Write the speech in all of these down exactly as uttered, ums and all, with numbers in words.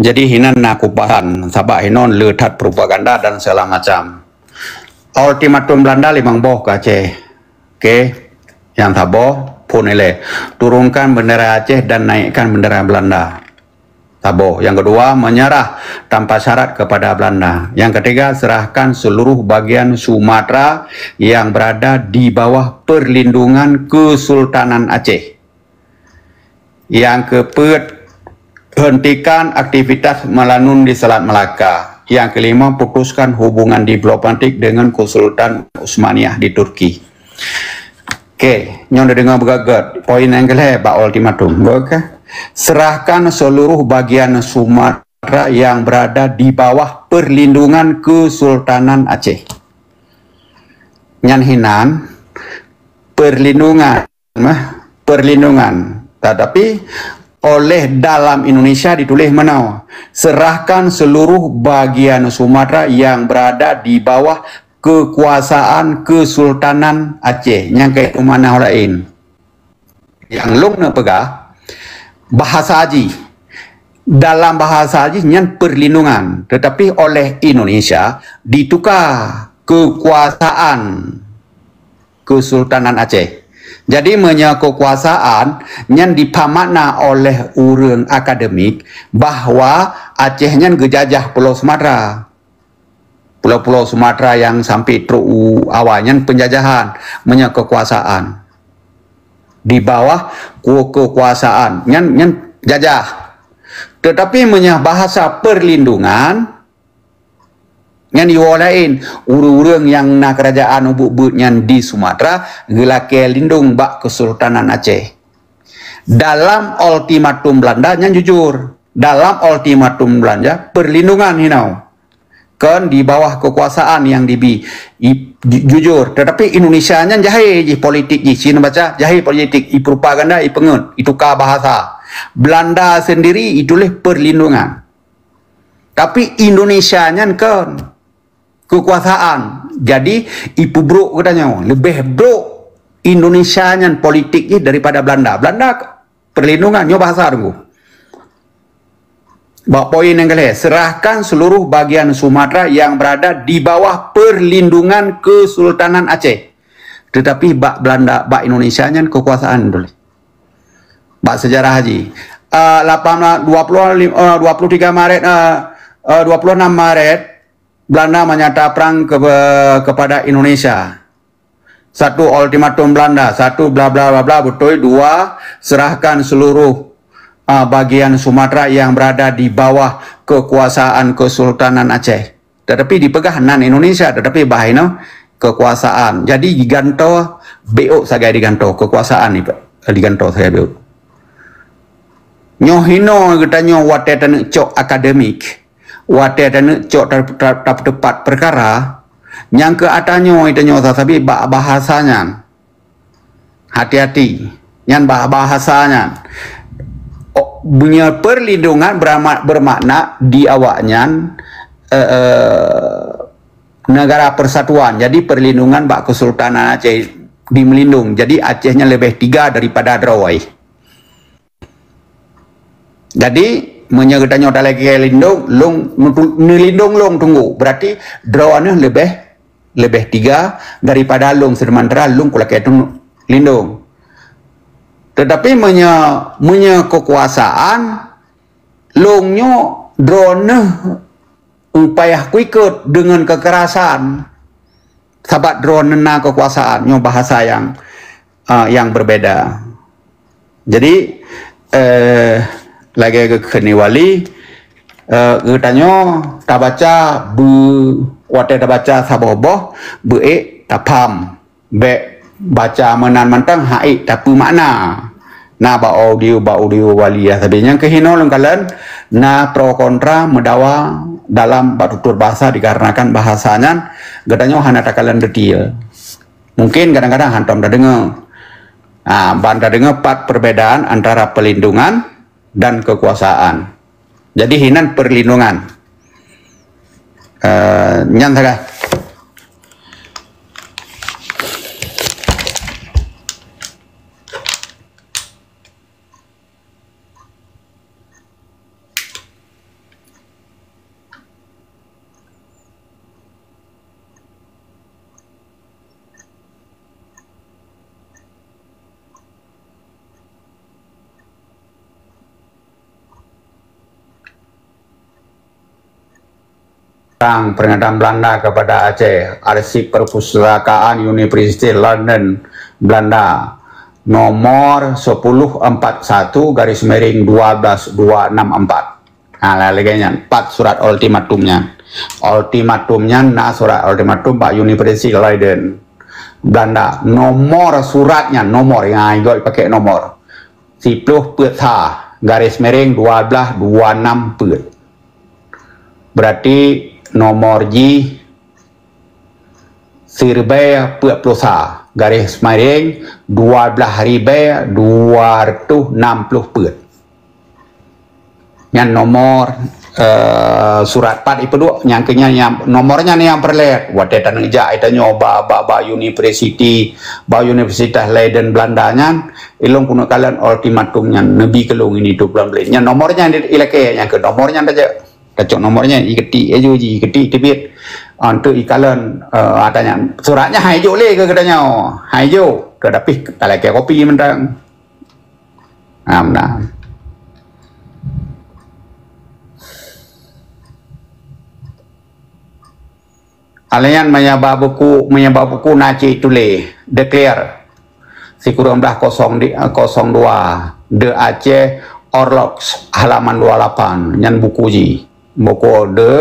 Jadi hinan na kupahan, sabab hinan le that propaganda dan segala macam. Ultimatum Belanda limong boh ke Aceh. Oke, nyang saboh, phon ilée, turunkan bendera Aceh dan naikkan bendera Belanda. Saboh. Yang kedua, menyerah tanpa syarat kepada Belanda. Yang ketiga, serahkan seluruh bagian Sumatera yang berada di bawah perlindungan Kesultanan Aceh. Yang keempat, hentikan aktivitas Melanun di Selat Melaka. Yang kelima, putuskan hubungan diplomatik dengan Kesultanan Utsmaniyah di Turki. Oke, nyoe neudeungoe beugét-gét. Poin nyang keulhèe bak ultimatum. Oke. Serahkan seluruh bagian Sumatera yang berada di bawah perlindungan Kesultanan Aceh. Nyan hinan perlindungan, mah, perlindungan. Tetapi oleh dalam Indonesia ditulis meunoe, serahkan seluruh bagian Sumatera yang berada di bawah kekuasaan Kesultanan Aceh. Nyang keu itu makna lain. Nyang lôn neupeugah, bahasa jih, dalam bahasa jih nyan perlindungan, tetapi oleh Indonesia ditukar kekuasaan Kesultanan Aceh. Jadi meunyoe kekuasaan nyan dipeumakna oleh ureuëng akademik bahwa Aceh nyan geujajah Pulo Sumatera. Pulo-pulo Sumatera nyang sampai trok u awai nyan penjajahan, meunyoe kekuasaan. Di bawah ku-, kekuasaan nyan, nyan jajah. Tetapi meunyoe bahasa perlindungan, nyan iwoe laén, ureuëng-ureuëng nyang na kerajaan ubit-ubit nyan di Sumatera geulakée lindong bak Kesultanan Aceh. Dalam ultimatum Belanda nyan jujur. Dalam ultimatum Belanda, perlindungan hinoe. Kon di bawah kekuasaan nyang dibi. I, ju-, jujur. Tetapi Indonesia nyan jahé jih politik jih. Cina baca jahé politik. I propaganda, i peungeut, i tukar bahasa. Belanda sendiri ituléh perlindungan. Tapi Indonesia nyan kon kekuasaan. Jadi, ipeubrok geutanyoe. Leubeh brok Indonesia nyan politik jih daripada Belanda. Belanda perlindungan, nyoe bahasa Teungku. Bak poin nyang keulhèe, serahkan seluruh bagian Sumatera yang berada di bawah perlindungan Kesultanan Aceh. Tetapi bak Belanda, bak Indonesia nyan kekuasaan dulu. Bak sejarah haji. Uh, lapan belas, dua puluh, uh, dua puluh tiga Maret, uh, uh, dua puluh enam Maret, Belanda menyata perang ke, kepada Indonesia. Satu, ultimatum Belanda, satu, bla bla bla bla, beutôi, dua, serahkan seluruh, ah, bagian Sumatera yang berada di bawah kekuasaan Kesultanan Aceh. Tetapi dipeugah nan Indonesia, tetapi bah inoe kekuasaan. Jadi digantoe, beok sagai digantoe, kekuasaan ni digantoe sagai beok. Nyoe hinoe geutanyoe watée taneuk cok akademik, watée taneuk cok ta-, ta-, tapeuteupat peukara, nyang keu ata nyoe tanyoe sasabe bak bahasa nyan. Hati-hati, nyan bah-, bahasa nyan. Oh, meunyoe perlindungan berama-, bermakna di awaknyan, eh, eh, negara persatuan. Jadi perlindungan bak Kesultanan Aceh di Melindung. Jadi Aceh nyan leubeh tiga daripada droe. Jadi, meunyoe geutanyoe talakée lindong, lôn neutu-, neulindong lôn Teungku. Berarti droeneuh leubeh, leubeh tiga daripada lôn, seumantara lôn kulakée lindong. Tetapi meunyoe, meunyoe kekuasaan, lôn nyoe droeneuh payah kuikot deungon kekerasan, sabab droeneuh na kekuasaan. Nyoe bahasa nyang, ah, nyang berbeda. Jadi, eh, lagée geukheun wali, eh, geutanyoe tabaca beu-, watée tabaca saboh boh, beuék tapham. Bék baca meunan mantong, haiek tapeumakna. Na bak audio, bak audio wali ya sabe. Nyang keuhinoe lôn kalon, na pro kontra meudawa dalam bak tutur bahasa dikarenakan bahasa nyan geutanyoe hana takalon detail. Mungkin kadang-kadang hantom tadeungoe. Ha, ban tadeungoe pat perbedaan antara perlindungan dan kekuasaan. Jadi hinan perlindungan. Eh, nyan sagai. Tentang pernyataan Belanda kepada Aceh, Arsip Perpustakaan University London, Belanda, nomor sepuluh empat satu garis miring dua belas dua enam empat. Ha, lagée nyan, pat surat ultimatum nyan. Ultimatum nyan na surat ultimatum bak University Leiden, Belanda. Nomor surat nyan, nomor nyang igoe pakai nomor. Siploh peuet sa, garis miring dua belas dua enam peuet. Berarti nomor jih siribée peuet ploh sa, garis miring dua belas ribée dua ratus enam ploh peuet. Nyan nomor, eh, surat pat ipeuduek, nyang keu nyan nyang nomor nyan nyang peureulée. Watée taneuk jak itanyoe ba, ba, ba university, ba Universitas Leiden Belanda nyan, ilong keuneuk kalon ultimatum nyan, neubi keu lôn ini tu bulan Belén. Nyan nomor nyan ilakée, nyang keu nomor nyan tajak. Tacok nomor nyan, iketik aju ji, iketik teubiet. Ah, untuk ikalon, eh, ata nyan. Surat nyan hai jok lé keu geutanyoe. Hai jok, keu dapih talakée kopi mantong. Nah, nah. Alaian meunyo ba buku, meunyo ba buku na cit tuléh, declare. Sikureueng blah kosong di, kosong dua, The Aceh Orloks, halaman dua lapan, nyan buku jih. Buku The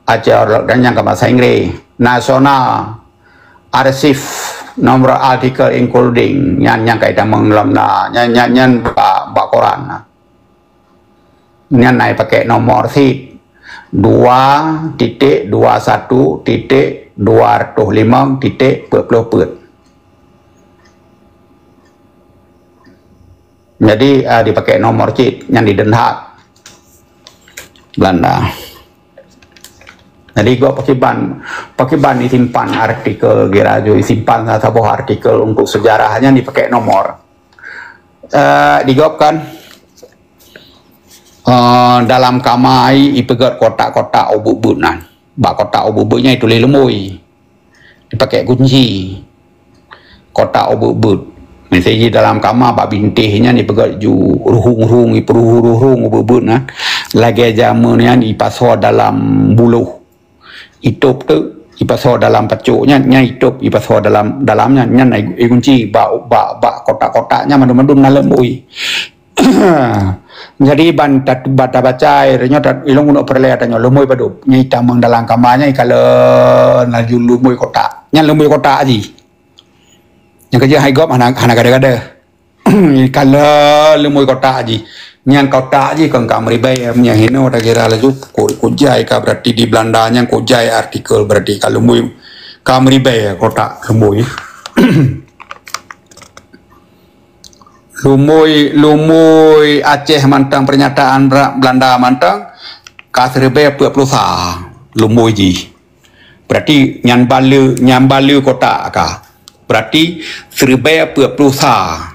Aceh Orlok dan nyang ka bahasa Inggris. National Archive, nomor artikel including, nyan nyang ka itamong lom na, nyan, nyan, nyan bak, bak koran na. Nyan na ipakai nomor sit dua titik dua satu titik dua ratus lima titik peuet puluh peuet. Jadi, ah, dipakai nomor cit nyan di Den Haag, Belanda. Jadi, gop pakiban, pakiban disimpan artikel, kira ju disimpan saboh artikel untuk sejarah nyan dipakai nomor. Eh, digop kan, eh, dalam kama ai ipeugét kotak-kotak ubeuet-ubeuet nan. Bak kotak ubeuet-ubeuet nyan ituléh lumbôi. Dipakai kunci. Kotak ubeuet-ubeuet. Miseujih dalam kama bak bintéh nyan ipeugét ju ruhueng-ruhueng, ipeururung-rurung ubeuet-ubeuet nyan. Lagée jameun nyan ipasoe dalam buloh. Itôb teuk ipasoe dalam pacok nyan, nyan itôb ipasoe dalam, dalam nyan, nyan igunci bak, bak, bak kotak-kotak nyan mandum-mandum na lumbôi. Jadi ban tat-, ban tabaca, nyoe tat-, ilong keuneuk peureulée tanyoe lumbôi padub. Nyan itamong dalam kama nyan ikalon laju lumbôi kotak. Nyan lumbôi kotak jih. Nyang keujeuet hai gop hana, hana gada-gada. Ikalon lumbôi kotak jih. Nyan kotak jih kon ka meuribée, meunyo hinoe takira laju ku-, kujai ka berarti di Belanda nyan kujai artikel berarti ka lumbôi, ka meuribée kotak lumbôi. Lumbôi, lumbôi Aceh mantong pernyataan Bra-, Belanda mantong ka siribée peuet ploh sa lumbôi jih. Berarti nyan bale, nyan bale kotak ka. Berarti siribée peuet ploh sa.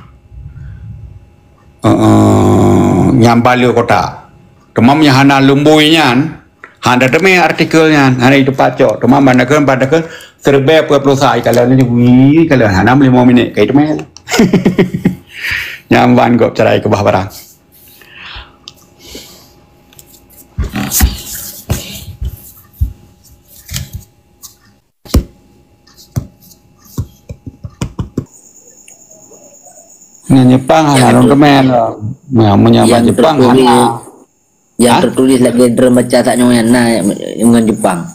Eh, eh, nyan bale kotak. Teuma meunyo hana lumbôi nyan, hana teumé artikel nyan, hana iteupat cok. Teuma ban dakeuh, ban dakeuh, siribée peuet ploh sa ikalon nyan, wih, ikalon hana lima minit ka iteumé. Nyan ban gop cara ikeubah barang. Nyan Jepang hana lôn teumé lom. Nyan meunyo ban Jepang hana. Nyang tertulis lagée droen baca sak nyoe nyan na ngon Jepang.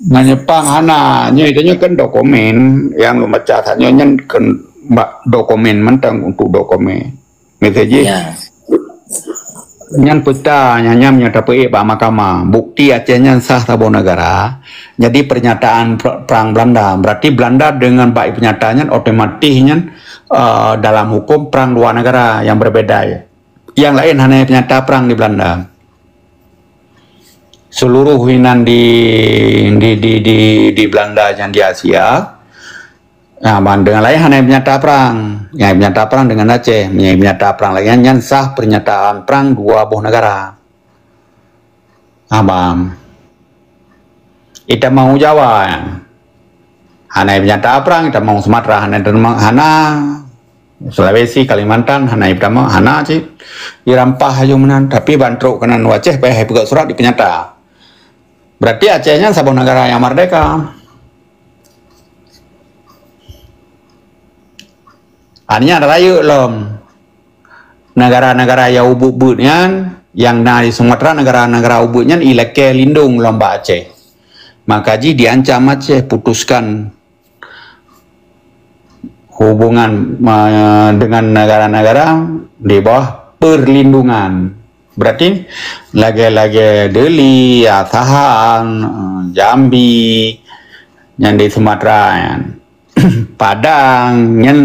Ngon Jepang hana. Nyoe, nyoe kan dokumen nyang lôn baca sak nyoe nyan kan bak dokumen mantong untuk dokumen. Miseujih. Ya. Nyan peuta nyan, nyan nyang tapeuék bak mahkamah. Bukti Aceh nyan sah saboh negara. Jadi pernyataan per-, perang Belanda. Berarti Belanda dengan bak pernyataan nyan otomatis nyan, eh, dalam hukum perang dua negara yang berbeda. Yang lain hana peunyata perang di Belanda. Seluruh inan di, di, di, di, di Belanda nyang di Asia, nah, ban dengan lain hana peunyata perang. Nyang peunyata perang dengan Aceh. Nyang peunyata perang lagée nyan sah pernyataan perang dua boh negara. Abang. Itamong Jawa. Hana peunyata perang, itamong Sumatera, hana itamong, hana Sulawesi, Kalimantan, hana itamong, hana cit. Irampah aju meunan, tapi ban trok keunan u Aceh, payah ipeugét surat dipeunyata. Berarti Aceh nyan saboh negara nyang merdeka. Artinya rayeuk lom negara-negara nyang ubit-ubit nyan, nyang na di Sumatera, negara-negara ubit nyan ilakée lindong lom bak Aceh. Maka jih diancam Aceh putuskan hubungan, eh, dengan negara-negara di bawah perlindungan. Berarti lagée-lagée Deli, Asahan, eh, Jambi, nyan di Sumatera nyan. Padang nyan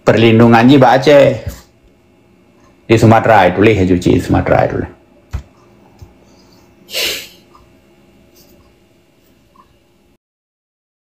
perlindungan jih bak Aceh. Di Sumatera tuléh, cuci Sumatera tuléh.